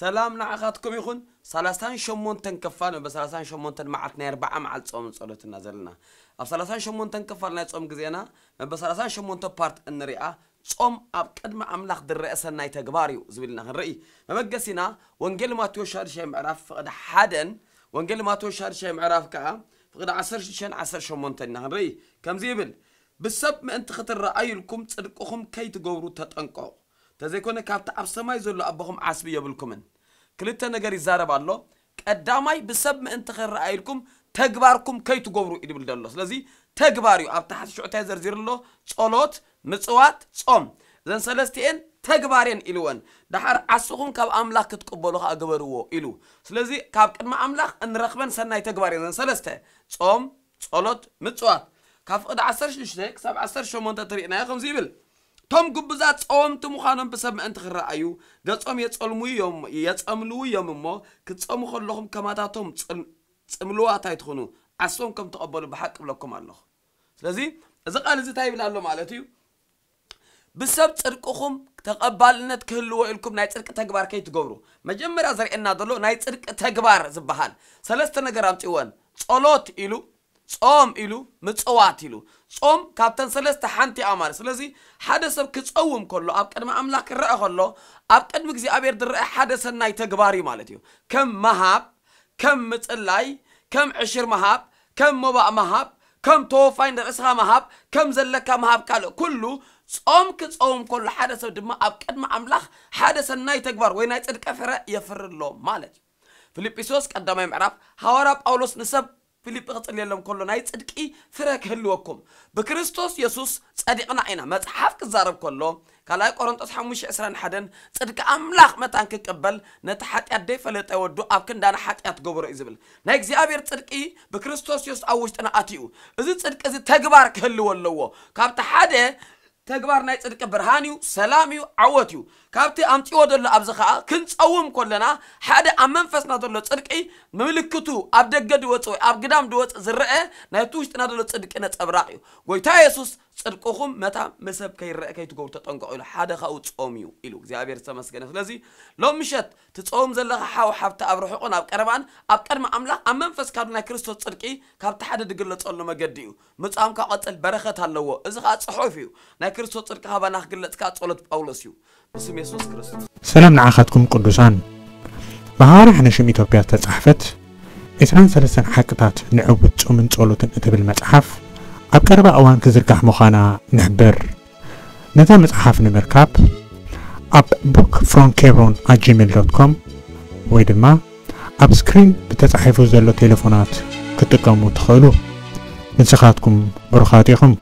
ሰላም ንዓኻትኩም ይኹን። ሰላሳን ሸሞንተን ክፋል፣ መበል ሰላሳን ሸሞንተን መዓልቲ ናይ ኣርብዓ መዓልቲ ጾምን ጸሎትና ዘለና። ኣብ ሰላሳን ሸሞንተን ክፋል ናይ ጾም ግዜና፣ መበል ሰላሳን ሸሞንተን ፓርት እንሪኣ፣ ጾም ኣብ ቅድሚ ኣምላኽ ዝረአ ሰናይ ተግባር እዩ ዝብል ኢና ክንርኢ። መበገሲና፣ ወንጌል ማቴዎስ ሻድሻይ ምዕራፍ ፍቕዲ ሓደን፣ ወንጌል ማቴዎስ ሻድሻይ ምዕራፍ ከኣ ፍቕዲ ዓሰርተ ሽዱሽተን ዓሰርተ ሸሞንተን ኢና ክንርኢ። ከምዚ ይብል፣ "ብሰብ ምእንቲ ክትረኣዩ ኢልኩም ጽድቅኹም ከይትገብሩ ተጠንቀቑ። ተዘይኮነ ካብቲ ኣብ ሰማይ ዘሎ ኣቦኹም ዓስቢ የብልኩምን።" ክልተ ነገር ይዛረብ ኣሎ። ቀዳማይ፣ ብሰብ ምእንቲ ክረኣዩ ኢልኩም ተግባርኩም ከይትገብሩ እዩ ዝብል ዘሎ። ስለዚ ተግባር እዩ። ኣብ ታሕቲ ሽዑ እንታይ ዘርዚሩ ኣሎ? ጸሎት፣ ምጽዋት፣ ጾም። እዘን ሰለስቲኤን ተግባር እየን ኢልወን። ደሓር ዓስኹም ካብ ኣምላኽ ክትቅበሉ ከኣ ግበርዎ ኢሉ። ስለዚ ካብ ቅድሚ ኣምላኽ እንረኽበን ሰናይ ተግባር እየን እዘን ሰለስተ። ጾም፣ ጸሎት፣ ምጽዋት። ካብ ፍቕዲ ዓሰርተ ሽዱሽተ ክሳብ ዓሰርተ ሸሞንተ ትርኢናዮ ከምዚ ይብል፣ "እቶም ግቡዛት ጸወምቲ ምዃኖም ብሰብ ምእንቲ ክረኣዩ፣ ገጾም የጸልሙ እዮም፣ የጸምልዉ እዮም እሞ፣ ክትጸሙ ከለኹም ከማታቶም ጽል-፣ ጽምልዋት ኣይትኹኑ፣ ዓሶም ከም ትቐበሉ ብሓቂ እብለኩም ኣለኹ።" ስለዚ እዚ ቃል እዚ እንታይ ይብል ኣሎ ማለት እዩ? ብሰብ ጽድቅኹም ተቐባልነት ክህልዎ ኢልኩም ናይ ጽድቂ ተግባር ከይትገብሩ። መጀመርያ ዘርእየና ዘሎ ናይ ጽድቂ ተግባር ዝበሃል ሰለስተ ነገር ኣምጺወን። ጸሎት ኢሉ፣ ጾም ኢሉ፣ ምጽዋት ኢሉ። ጾም ካብተን ሰለስተ ሓንቲ እያ ማለት። ስለዚ ሓደ ሰብ ክጸውም ከሎ፣ ኣብ ቅድሚ ኣምላኽ ክረአ ከሎ፣ ኣብ ቅድሚ እግዚኣብሔር ዝረአ ሓደ ሰናይ ተግባር እዩ ማለት እዩ። ከም ምሃብ፣ ከም ምጽላይ፣ ከም ዕሽር ምሃብ፣ ከም መባእ ምሃብ፣ ከም ተወፋይ ንርእስኻ ምሃብ፣ ከም ዘለካ ምሃብ ካልእ ኩሉ፣ ጾም ክጸውም ከሎ ሓደ ሰብ ድማ ኣብ ቅድሚ ኣምላኽ ሓደ ሰናይ ተግባር ወይ ናይ ጽድቂ ፍረ የፍሪ ኣሎ ማለት እዩ። ፊልጵስዩስ ቀዳማይ ምዕራፍ፣ ሃዋርያ ጳውሎስ ንሰብ ፊልጲ ክጽልየሎም ከሎ ናይ ጽድቂ ፍረ ክህልወኩም ብክርስቶስ የሱስ ጸዲቕና ኢና። መጽሓፍ ክዛረብ ከሎ ካልኣይ ቆሮንጦስ ሓሙሽተ ዕስራን ሓደን፣ ጽድቂ ኣምላኽ መታን ክቅበል ነቲ ሓጢኣት ደይፈለጠ ወዱ ኣብ ክንዳና ሓጢኣት ገበሮ እዩ ዝብል። ናይ እግዚኣብሔር ጽድቂ ብክርስቶስ የሱስ ኣብ ውሽጥና ኣትዩ። እዚ ጽድቂ እዚ ተግባር ክህልዎ ኣለዎ። ካብቲ ሓደ ተግባር ናይ ጽድቂ ብርሃን እዩ፣ ሰላም እዩ፣ ዓወት እዩ። ካብቲ ኣምጺዎ ዘሎ ኣብዚ ኸኣ ክንጸውም ከለና ሓደ ኣብ መንፈስና ዘሎ ጽድቂ ምልክቱ ኣብ ደገ ድወጽእ ወይ ኣብ ግዳም ድወጽእ ዝረአ ናይቲ ውሽጥና ዘሎ ጽድቂ ነጸብራቕ እዩ። ጎይታ የሱስ ጽድቅኹም መታ ምሰብ ከይረአ ከይትገብሩ ተጠንቀቑ ኢሉ። ሓደ ካብኡ ጾም እዩ ኢሉ። እግዚኣብሔር ዝተመስገነ። ስለዚ ሎም ምሸት ትጸውም ዘለኻ ሓው ሓብቲ ኣብ ርሑቕን ኣብ ቀረባን ኣብ ቅድሚ ኣምላኽ ኣብ መንፈስካ ናይ ክርስቶስ ጽድቂ ካብቲ ሓደ ድግለጸሉ መገዲ እዩ። ምጻምካ ቀጽል በረኸት ኣለዎ። እዚ ኸኣ ጽሑፍ እዩ። ናይ ክርስቶስ ጽድቂ ካባና ክግለጽ ከኣ ጸሎት ጳውሎስ እዩ። ብስም የሱስ ክርስቶስ። ሰላም ንዓኻትኩም ቅዱሳን። ብሃዋርያ ሓነሽም ኢትዮጵያ ዝተጻሕፈት ዕስራን ሰለስተን ሓቅታት ንዕውት ጾምን ጸሎትን እትብል መጽሓፍ ኣብ ቀረባ እዋን ክዝርጋሕ ምዃና ንሕብር። ነዛ መጽሓፍ ንምርካብ ኣብ book from hebron at gmail dot com ወይ ድማ ኣብ ስክሪን ብተጻሒፉ ዘሎ ቴሌፎናት ክትጥቀሙ ትኽእሉ። ንስኻትኩም ብሩኻት ኢኹም።